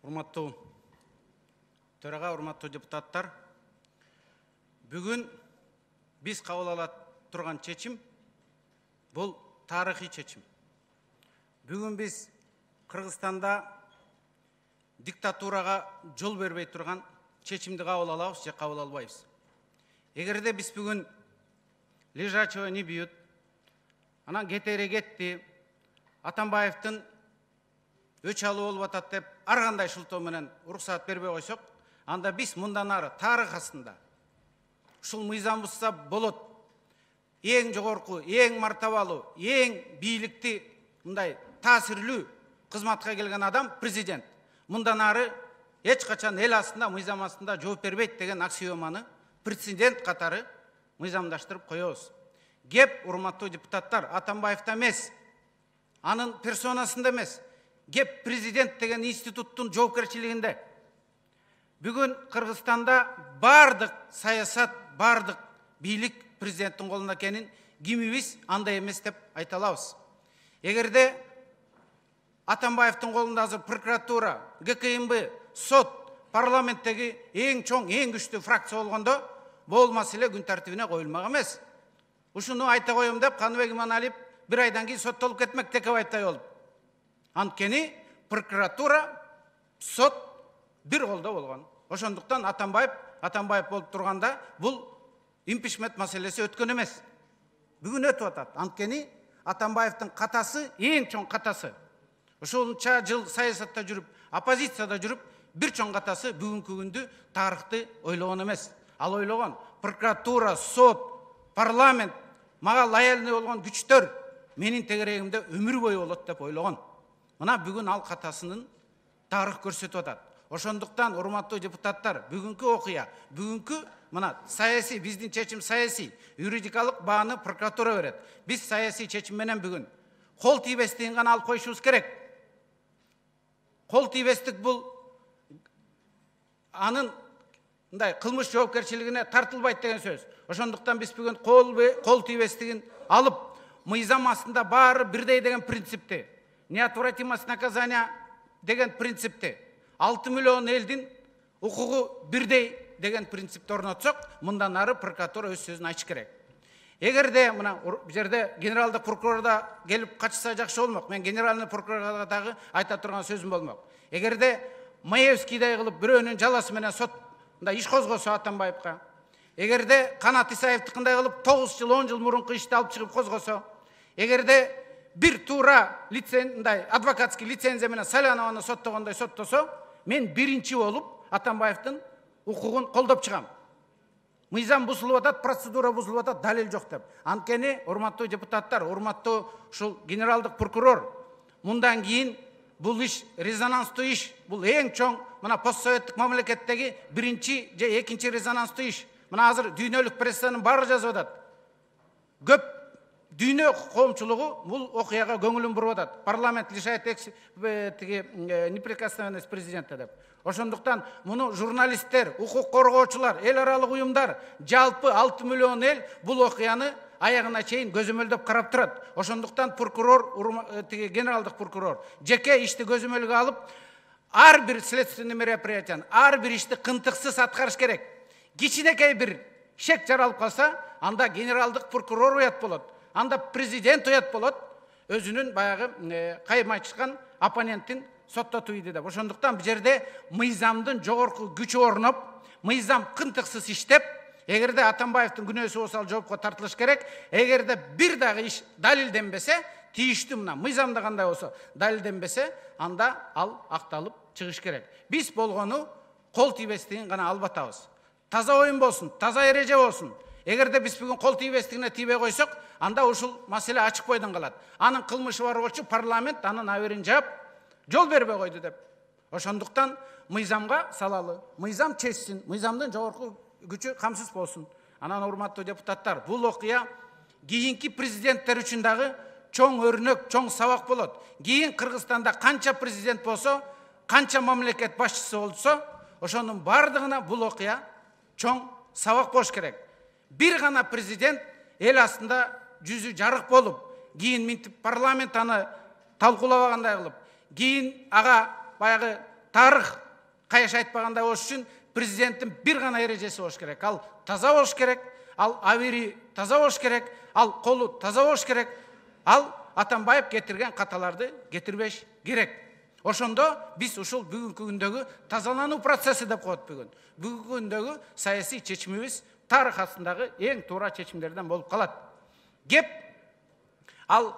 Урматтуу төрага, урматтуу депутаттар, бүгүн биз кабыл ала турган чечим бул тарыхый чечим. Бүгүн биз Кыргызстанда диктатурага жол бербей турган чечимди кабыл алабыз же кабыл албайбыз. Эгерде биз бүгүн лежачего не бьют, анан кетери кетти, Атамбаевдин өч алуу болуп атат деп ар кандай шылтоо менен уруксаат бербей койсок, анда биз мындан ары тарых астында ушул мыйзам бузса болот, эң жогорку, эң мартабалуу, эң бийликти мындай таасирлүү кызматка келген адам президент. Мындан ары эч качан эл астында, мыйзам астында жооп бербейт деген аксиоманы прецедент катары мыйзамдаштырып коебуз. Кеп, урматтуу депутаттар, Атамбаевда эмес, анын персонасында эмес, кеп президент деген институттун жоопкерчилигинде. Бүгүн Кыргызстанда бардык саясат, бардык бийлик президенттин колунда экенин кимибиз андай эмес деп айта алабыз. Эгерде Атамбаевдин колунда азыр прокуратура, ГКМБ, сот, парламенттеги эң чоң, эң күчтүү фракция болгондо, бул маселе күн тартибине коюлмак эмес. Ушуну айта коем деп Каныбек Иманалиев бир айдан кийин соттолуп кетмек Текебаевтай болуп. Анткени прокуратура, сот бир колдо болгон. Ошондуктан Атамбаев болуп турганда бул импичмент маселеси өткөн эмес. Бүгүн өтүп атат. Анткени Атамбаевдин катасы эң чоң катасы. Ошонча жыл саясатта жүрүп, оппозицияда жүрүп, бир чоң катасы бүгүнкү күндү тарыхты ойлогон эмес. Ал ойлогон прокуратура, сот, парламент, мага лояльный болгон күчтөр менин тегерегимде өмүр бою болот деп ойлогон. Мына бүгүн ал катасынын тарых көрсөтүп атат. Ошондуктан урматтуу депутаттар, бүгүнкү окуя, бүгүнкү мына саясий, биздин чечим саясий, юридикалык бааны прокуратура берет. Биз саясий чечим менен бүгүн кол тийбестигин гана алып коюшубуз керек. Кол тийбестик бул анын мындай кылмыш жоопкерчилигине тартылбайт деген сөз. Ошондуктан биз бүгүн кол тийбестигин алып, мыйзам астында баары бирдей деген принципти, неотвратимость наказания деген принципти, 6 миллион элдин укугу бирдей деген принципти орнотсок, мындан ары прокуратура өз сөзүн айтыш керек. Эгерде мына жерде генералдык прокурор да келип качса жакшы болмок. Мен генеральный прокурорго дагы айта турган сөзүм болмок. Эгерде Маевскийдай кылып бирөөнүн жаласы менен сот мындай иш козгосо Атамбаевга, эгерде Канат Исаевдикиндай кылып 9 жыл, 10 жыл мурунку ишти алып чыгып козгосо, эгерде бир туура мындай адвокатский лицензия менен Салянованы соттогондой соттосо, мен биринчи болуп Атамбаевдин укугун колдоп чыгам. Мыйзам бузулуп атат, процедура бузулуп атат, далил жок деп. Анткени, урматтуу депутаттар, урматтуу ушул генералдык прокурор, мындан кийин бул иш резонанстуу иш, бул эң чоң мына постсоветтик мамлекеттеги биринчи же экинчи резонанстуу иш. Мына азыр дүйнөлүк прессанын баары жазып атат. Көп дүйнө коомчулугу бул окуяга көңүлүн буруп атат. Парламент лишает неприкосновенность президента деп. Ошондуктан муну журналисттер, укук коргоочулар, эл аралык уюмдар, жалпы 6 миллион эл бул окуяны аягына чейин көзөмөлдөп карап турат. Ошондуктан прокурор, генералдык прокурор жеке ишти көзөмөлгө алып, ар бир следственный мероприятияны, ар бир ишти кынтыксыз аткарыш керек. Кичинекей бир шек жаралып калса, анда генералдык прокурор уят болот. Анда президент уят болот, өзүнүн баягы кайым айтышкан оппоненттин соттотуу иди деп. Ошондуктан бул жерде мыйзамдын жогорку күчү орноп, мыйзам кынтыксыз иштеп, эгерде Атамбаевдин күнөөсү болсо жоопко тартылыш керек. Эгерде бир дагы иш далилденбесе, тийиштүү мына мыйзамда кандай болсо далилденбесе, анда ал акталып чыгыш керек. Биз болгону кол тийбестигин гана алып атабыз. Таза оюн болсун, таза эреже болсун. Эгерде биз бүгүн кол тийбестигине тийбей койсок, анда ушул маселе ачык бойдон калат. Анын кылмышы бар болчу, парламент анын аберин жаап, жол бербей койду деп. Ошондуктан мыйзамга салалы, мыйзам чечсин, мыйзамдын жогорку күчү камсыз болсун. Анан урматтуу депутаттар, бул окуя кийинки президенттер үчүн дагы чоң өрнөк, чоң сабак болот. Кийин Кыргызстанда канча президент болсо, канча мамлекет башчысы болсо, ошонун бардыгына бул окуя чоң сабак болуш керек. Бир гана президент эл астында жүзү жарык болуп, кийин минтип парламент аны талкуулабагандай кылып, кийин ага баягы тарых каяш айтпагандай болуш үчүн президенттин бир гана эрежеси болуш керек. Ал таза болуш керек, ал абири таза болуш керек, ал колу таза болуш керек, ал Атамбаев кетирген каталарды кетирбеш керек. Ошондо биз ушул бүгүнкү күндөгү тазалануу процесси деп коет бүгүн. Бүгүнкү күндөгү саясий чечимибиз тарых астындагы эң туура чечимдерден болуп калат. Кеп ал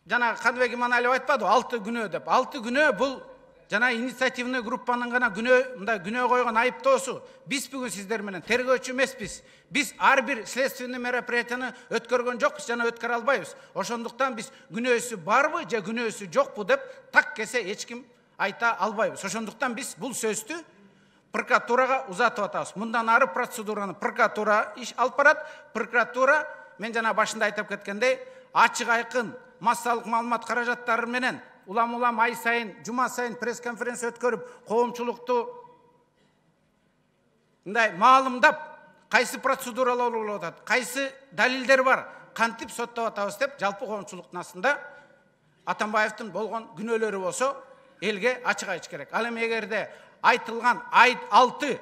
жана Каныбек Иманалиев айтпады 6 күнөө деп. 6 күнөө бул жана инициативный группанын гана күнөө койгон айыптоосу. Биз бүгүн сиздер менен тергөөчү эмеспиз. Биз ар бир следственный мероприятияны өткөргөн жокпуз жана өткөрө албайбыз. Ошондуктан биз күнөөсү барбы же күнөөсү жокпу деп так кесе эч ким айта албайбыз. Ошондуктан биз бул сөздү прокуратурага узатып атабыз. Мындан ары процедураны прокуратура иш алып барат. Прокуратура мен жана башында айтып кеткендей ачык айкын массалык маалымат каражаттары менен улам ай сайын, жума сайын пресс-конференция өткөрүп, коомчулукту мындай маалымдап, кайсы процедуралар болуп атат, кайсы далилдер бар, кантип соттоп атабыз деп, жалпы коомчулуктун астында Атамбаевдин болгон күнөөлөрү болсо, элге ачык айтыш керек. Ал эми эгерде айтылган 6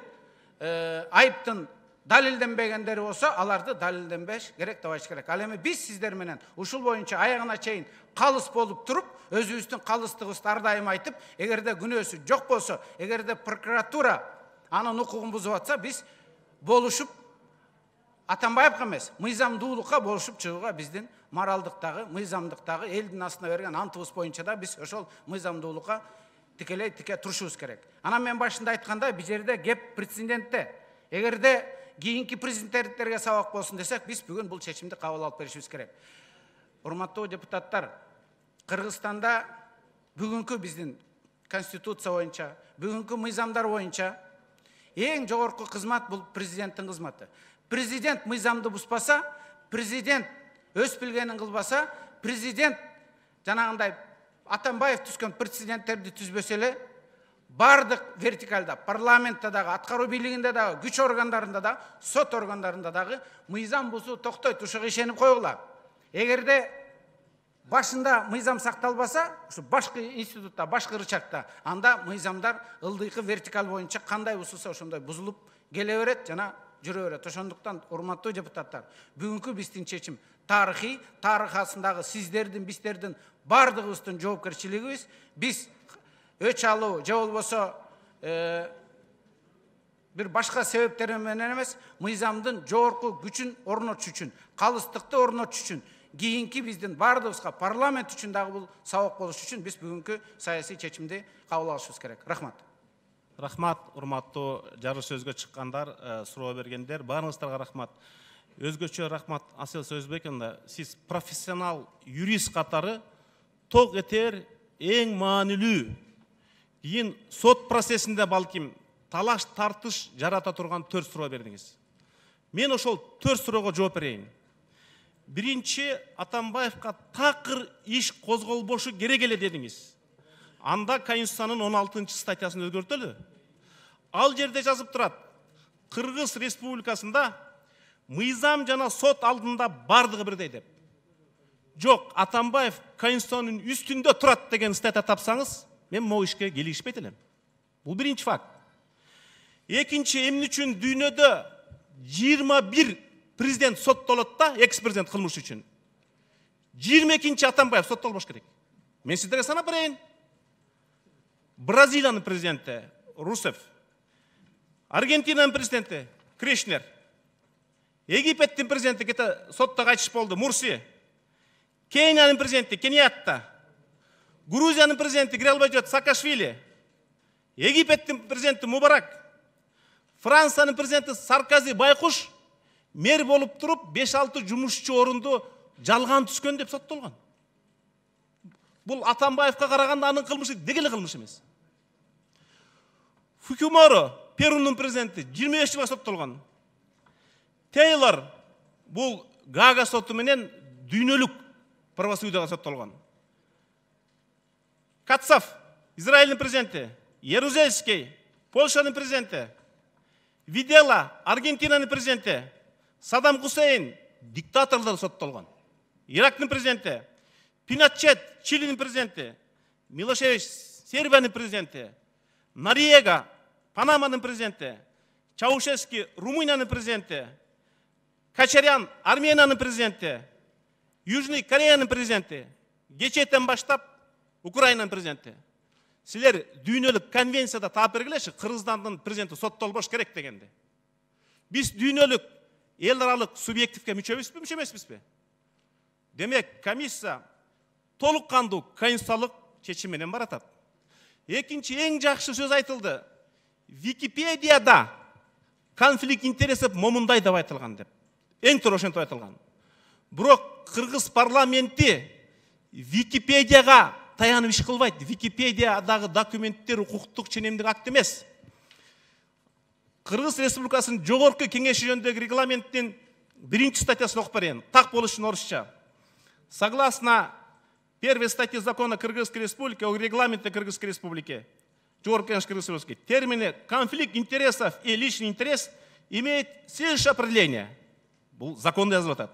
айыптын далилденбегендери болсо, аларды далилденбеш керек деп айтыш керек. Ал эми биз сиздер менен ушул боюнча аягына чейин калыс болуп туруп, өзүбүздүн калыстыгыбызды ар дайым айтып, эгерде күнөөсү жок болсо, эгерде прокуратура анын укугун бузуп атса, биз болушуп Атамбаевга эмес, мыйзамдуулукка болушуп чыгууга биздин моралдыктагы, мыйзамдыктагы элдин астына берген антыбыз боюнча да биз ошол мыйзамдуулукка тике турушубуз керек. Анан мен башында айткандай, бул жерде кеп прецедентте. Эгерде кийинки президенттерге сабак болсун десек, биз бүгүн бул чечимди кабыл алып беришибиз керек. Урматтуу депутаттар, Кыргызстанда бүгүнкү биздин конституция боюнча, бүгүнкү мыйзамдар боюнча эң жогорку кызмат бул президенттин кызматы. Президент мыйзамды буспаса, президент өз билгенин кылбаса, президент жанагындай Атамбаев түзгөн прецеденттерди түзбөсө эле, бардык вертикалда, парламентте дагы, аткаруу бийлигинде дагы, күч органдарында да, сот органдарында дагы мыйзам бузуу токтойт. Ушуга ишенип койгула. Эгерде башында мыйзам сакталбаса, ушу башкы институтта, башкы рычагта, анда мыйзамдар ылдыйкы вертикаль боюнча кандай бузулса ошондой бузулуп келе берет жана жүрө берет. Ошондуктан урматтуу депутаттар, бүгүнкү биздин чечим тарыхый, тарых астындагы сиздердин, биздердин бардыгыбыздын жоопкерчилигибиз. Биз өч алуу же болбосо бир башка себептер менен эмес, мыйзамдын жогорку күчүн орнотуш үчүн, калыстыкты орнотуш үчүн, кийинки биздин бардыгыбызга парламент үчүн дагы бул сабак болуш үчүн биз бүгүнкү саясий чечимди кабыл алышыбыз керек. Рахмат. Рахмат, урматтуу жарыш сөзгө чыккандар, суроо бергендер, баарыңыздарга рахмат. Өзгөчө рахмат Асел Сөзбековна, сиз профессионал юрист катары ток этер эң маанилүү кийин сот процессинде балким талаш тартыш жарата турган 4 суроо бердиңиз. Мен ошол 4 суроого жооп берейин. Биринчи, Атамбаевка такыр иш козголбошу керек эле дедиңиз. Анда Конституциянын 16 статьясын өзгөртөлү. Ал жерде жазып турат: Кыргыз Республикасында мыйзам жана сот алдында бардыгы бирдей деп. Жок, Атамбаев Конституциянын үстүндө турат деген статья тапсаңыз, мен могу ишке келишпейт элем. Бул биринчи факт. Экинчи, эмне үчүн дүйнөдө 21 президент соттолот да, экс-президент кылмыш үчүн. 22-чи Атамбаев соттолбош керек. Мен сиздерге санап берейин. Бразилиянын президенти Русев, Аргентинанын президенти Крешнер, Египеттин президенти кете сотто кайтыш болду Мурси, Кениянын президенти Кениятта, Грузиянын президенти кире албай жүрөт Саакашвили, Египеттин президенти Мубарак, Франциянын президенти Саркози байкуш мэр болуп туруп 5-6 жумушчу орунду жалган түскөн деп соттолгон. Бул Атамбаевка караганда анын кылмышы дегеле кылмыш эмес. Фукиморо, Перунун президенти 25 жылга соттолгон. Тейлор бул Гага соту менен дүйнөлүк правосудияга соттолгон. Кацав, Израилдин президенти, Ярузельский, Польшанын президенти, Видела, Аргентинанын президенти, Саддам Хусейн диктаторлор соттолгон. Ирактын президенти, Пиночет, Чилинин президенти, Милошевич, Сербиянын президенти, Нориега, Панаманын президенти, Чаушески, Румыниянын президенти, Качарян, Армениянын президенти, Южный Кореянын президенти, кечээден баштап Украинанын президенти. Силер дүйнөлүк конвенцияда таап бергилеши, Кыргызстандын президенти соттолбош керек дегенди. Биз дүйнөлүк эл аралык субъективге мүчөбүзбү, мүчө эмеспизби? Демек, комиссия толук кандуу конституциялык чечим менен баратат. Экинчи эң жакшы сөз айтылды. Википедияда конфликт интересов момундай деп айтылган деп. Эң туура ошентип айтылган. Бирок Кыргыз парламенти Википедияга таянып иш кылбайт. Википедиядагы документтер укуктук ченемдик акт эмес. Кыргыз Республикасынын жогорку кеңеши жөнүндөгү регламенттин 1-чи статьясын окуп берейин. Так болуш үчүн орусча. Согласно первой статьи закона Кыргызской Республики о регламенте Кыргызской Республики, Жогорку кеңеш Кыргызской Республики, термины конфликт интересов и личный интерес имеют следующее определение. Бул законда жазылып атат.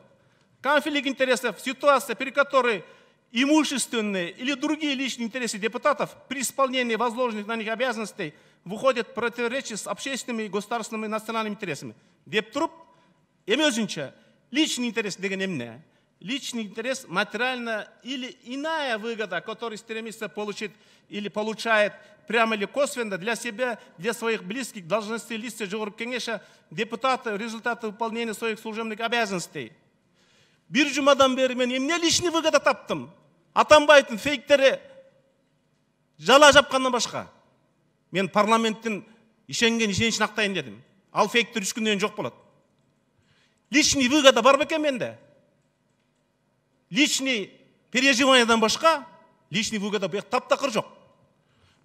Конфликт интересов – ситуация, при которой имущественные или другие личные интересы депутатов при исполнении возложенных на них обязанностей выходят в противоречие с общественными, государственными и национальными интересами. Деп туруп, эми өзүнчө личный интерес деген эмне? Личный интерес – материальная или иная выгода, которую стремится получить или получает прямо или косвенно для себя, для своих близких, должностей лиц Жогорку кеңеша, депутаты, результаты выполнения своих служебных обязанностей. Бир жумадан бери мен эмне личный выгода таптым? Атамбаевдин фейктери жала жапкандан башка. Мен парламенттин ишеничин актайын дедим. Ал фейктер 3 күндөн жок болот. Личный выгода бар бекен менде? Личный переживаниядан башка личный выгода бу таптакыр жок.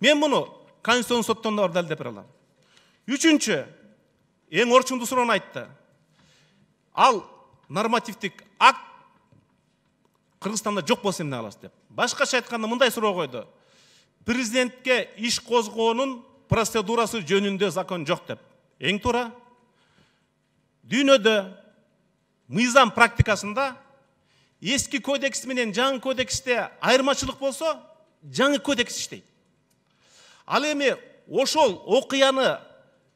Мен муну Конституцион соттон да далилдеп бере алам. Үчүнчү, эң орчундуу суроону айтты. Ал нормативдик акт Кыргызстанда жок болсо эмне кыласыз деп. Башкача айтканда мындай суроо койду. Президентке иш козгоонун процедурасы жөнүндө закон жок деп. Эң туура. Дүйнөдө мыйзам практикасында эски кодекс менен жаңы кодексте айырмачылык болсо, жаңы кодекс иштейт. Ал эми ошол окуяны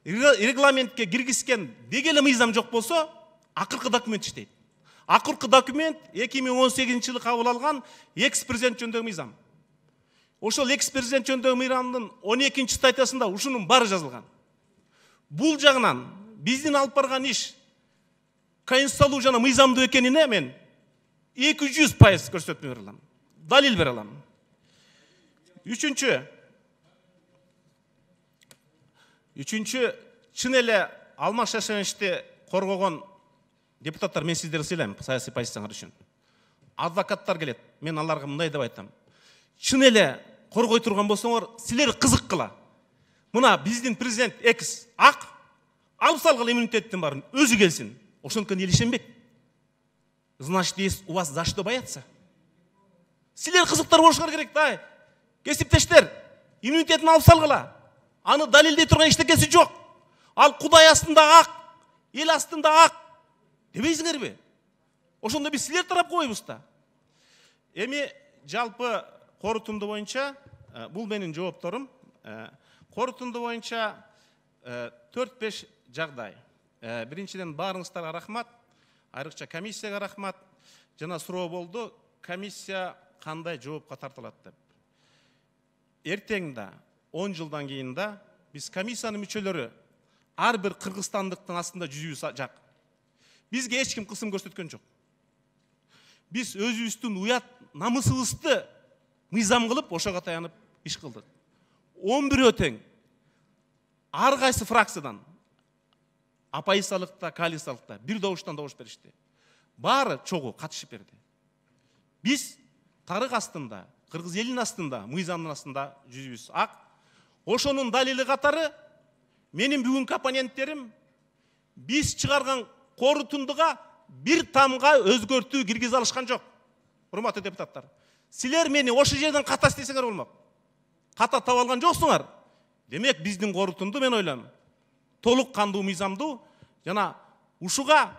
регламентке киргизген дегеле мыйзам жок болсо, акыркы документ иштейт. Акыркы документ 2018-жылы кабыл алган экс-президент жөнүндөгү мыйзам. Ошол экс-президент жөнүндөгү мыйзамдын 12-чи статьясында ушунун баары жазылган. Бул жагынан биздин алып барган иш конституциялуу жана мыйзамдуу экенине мен 200% көрсөтмө бере алам. Далил бере алам. Үчүнчү, чын эле Алмаз Шайшеновичти коргогон депутаттар, мен сиздерди сыйлайм саясий позицияңар үчүн. Адвокаттар келет, мен аларга мындай деп айтам. Чын эле коргой турган болсоңор, силер кызыккыла. Мына биздин президент экс ак алып салгыла иммунитеттин баарын өзү келсин. Ошондуктан эл ишенбек. Значит, есть у вас за что бояться. Силер кызыктар болушуңар керек да. Кесиптештер, иммунитетин алып салгыла. Аны далилдей турган эчтекеси жок. Ал Кудай астында ак, эл астында ак дебейсиңерби? Ошондо биз силер тарап койбуз да. Эми жалпы корутунду боюнча, бул менин жоопторум. Корутунду боюнча 4-5 жагдай. Биринчиден баарыңыздарга рахмат, айрыкча комиссияга рахмат. Жана суроо болду, комиссия кандай жоопко тартылат деп. Эртең да 10 жылдан кийин да биз комиссиянын мүчөлөрү ар бир кыргызстандыктын астында жүзүбүз жак. Бизге эч ким кысым көрсөткөн жок. Биз өзүбүздүн уят намысыбызды мыйзам кылып, ошого таянып иш кылдык. 11 тең ар кайсы фракциядан оппозициялыкта, коалициялыкта бир добуштан добуш беришти. Баары чогуу катышып берди. Биз тарык астында, кыргыз элинин астында, мыйзамдын астында жүзүбүз ак. Ошонун далили катары менин бүгүнкү оппоненттерим биз чыгарган корутундуга бир тамга өзгөртүү киргизе алышкан жок. Урматтуу депутаттар, силер мени ошол жерден ката истесеңер болмок. Ката таап алган жоксуңар. Демек биздин корутунду мен ойлойм толук кандуу мыйзамдуу жана ушуга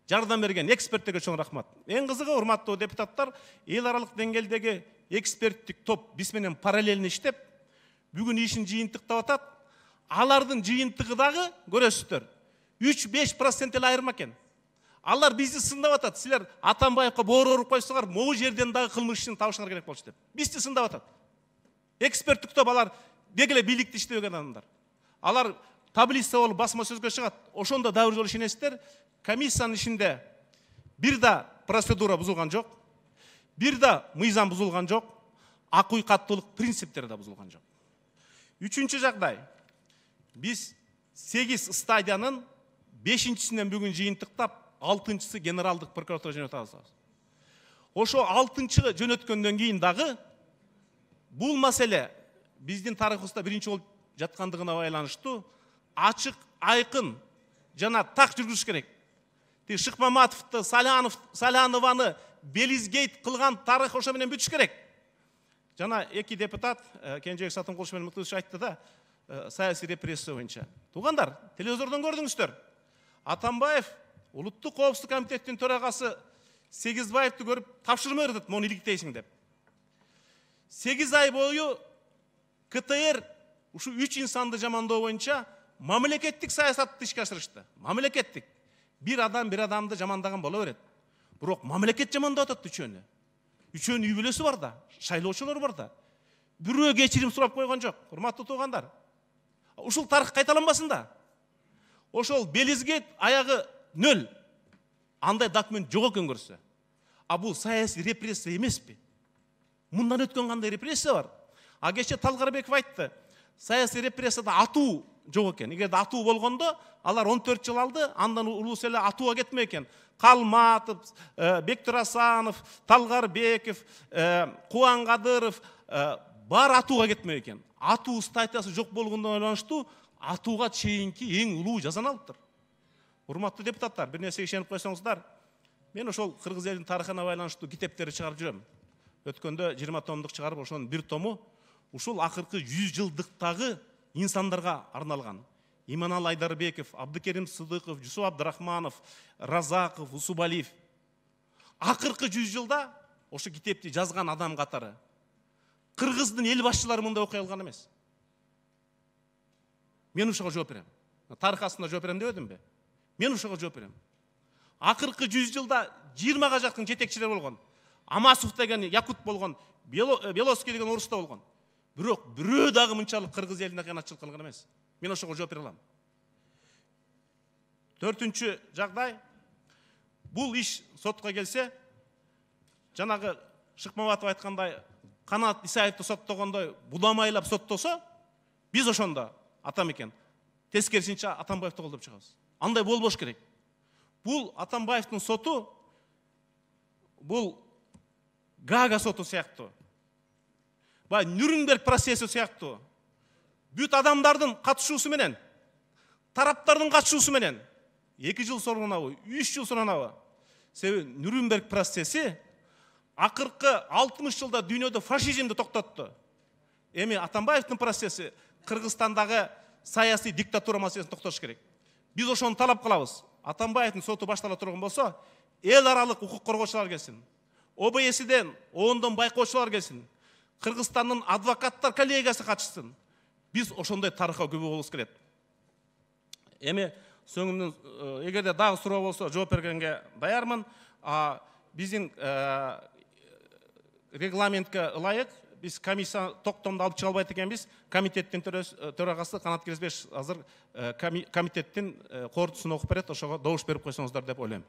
жардам берген эксперттерге чоң рахмат. Эң кызыгы, урматтуу депутаттар, эл аралык деңгээлдеги эксперттик топ биз менен параллельно иштеп, бүгүн ишин жыйынтыктап атат. Алардын жыйынтыгы дагы көрөсүздөр 3-5% эле айырма экен. Алар бизди сындап атат. Силер Атамбаевка боор уруп койсоңор, могу жерден дагы кылмыш ишин табышыңар керек болчу деп. Бизди сындап атат. Эксперттик топ алар деги эле бийликте иштебеген адамдар. Алар таблица болуп басма сөзгө чыгат. Ошондо да бир жолу ишенесиздер, комиссиянын ишинде бир да процедура бузулган жок, бир да мыйзам бузулган жок, акый каттуулук принциптери да бузулган жок. Үчүнчү жагдай. Биз 8 стадиянын 5-синен бүгүн жыйынтыктап, 6-сы генералдык прокуратура жөнөтөбүз. Ошо 6-чы жөнөткөндөн кийин дагы бул маселе биздин тарыхыбызда биринчи болуп жаткандыгына байланыштуу ачык, айкын жана так жүргүзүш керек. Шыкмаматовду, Салянованы белизгейт кылган тарых ошо менен бүтүш керек. Жана эки депутат, Кенжебек Сатымкулович менен Мыктыбек айтты да, саясий репрессия боюнча. Туугандар, телевизордон көрдүңүздөр. Атамбаев Улуттук коопсуздук комитеттин төрагасы Сегизбаевди көрүп тапшырма берди, мону иликтейсиң деп. 8 ай бою КТР ушу 3 инсанды жамандоо боюнча мамлекеттик саясатты ишке ашырышты. Мамлекеттик. Бир адамды жамандаган боло берет. Бирок мамлекет жамандап атат үчөөнү. Үчөөнүн үй бүлөсү бар да, шайлоочулар бар да. Бирөө кечирим сурап койгон жок. Урматтуу туугандар. Ушул тарых кайталанбасын да. Ошол белизгет аягы 0. Андай документ жок экен көрсө. А бул саясий репрессия эмеспи? Мындан өткөн кандай репрессия бар? А кече Талгарбеков айтты. Саясий репрессияда атуу жок экен. Эгерде атуу болгондо, алар 14 жыл алды, андан улус эле атууга кетме экен. Калматов, Бектур Асанов, Талгарбеков, Кубанкадыров бар атууга кетме экен. Атуу статьясы жок болгондон байланыштуу атууга чейинки эң улуу жазаны алыптыр. Урматтуу депутаттар, бир нерсеге ишенип койсоңуздар, мен ошол кыргыз элинин тарыхына байланыштуу китептерди чыгарып жүрөм. Өткөндө 20 томдук чыгарып, ошонун бир тому ушул акыркы 100 жылдыктагы инсандарга арналган. Иманал Айдарбеков, Абдыкерим Сыдыков, Жусуп Абдрахманов, Разаков, Усубалиев. Акыркы 100 жылда ошо китепти жазган адам катары кыргыздын эл башчылары мындай окуй алган эмес. Мен ушуга жооп берем. Тарых астында жооп берем дебедимби? Мен ушуга жооп берем. Акыркы 100 жылда 20га жакын жетекчилер болгон. Амасов деген якут болгон, Беловский деген орус да болгон. Бирок бирөө дагы мынчалык кыргыз элине кыянатчылык кылган эмес. Мен ошого жооп бере алам. 4-чү жагдай. Бул иш сотко келсе, жанагы Шыкмаматов айткандай, Канат Исаевди соттогондой будамайлап соттосо, биз ошондо атамекен тескерисинче Атамбаевди колдоп чыгабыз. Андай болбош керек. Бул Атамбаевдин соту, бул Гага соту сыяктуу. Бай Нюрнберг процесси сыяктуу. Бүт адамдардын катышуусу менен, тараптардын катышуусу менен 2 жыл соронабы, 3 жыл соронабы. Себеби Нюрнберг процесси акыркы 60 жылда дүйнөдө фашизмди токтотту. Эми Атамбаевдин процесси Кыргызстандагы саясий диктатура маселесин токтотуш керек. Биз ошону талап кылабыз. Атамбаевдин соту баштала турган болсо, эл аралык укук коргоочулар келсин. ОБС'ден, ООНдон байкоочулар келсин. Кыргызстандын адвокаттар коллегиясы катышсын. Биз ошондой тарыхка күбө болубуз келет. Эми соңумдун эгерде дагы суроо болсо жооп бергенге даярмын. Биздин регламентке ылайык биз комиссия токтомду алып чыга албайт экенбиз. Комитеттин төрагасы Канат Киризбеш азыр комитеттин корутуусун окуп берет, ошого добуш берип койсоңуздар деп ойлойм.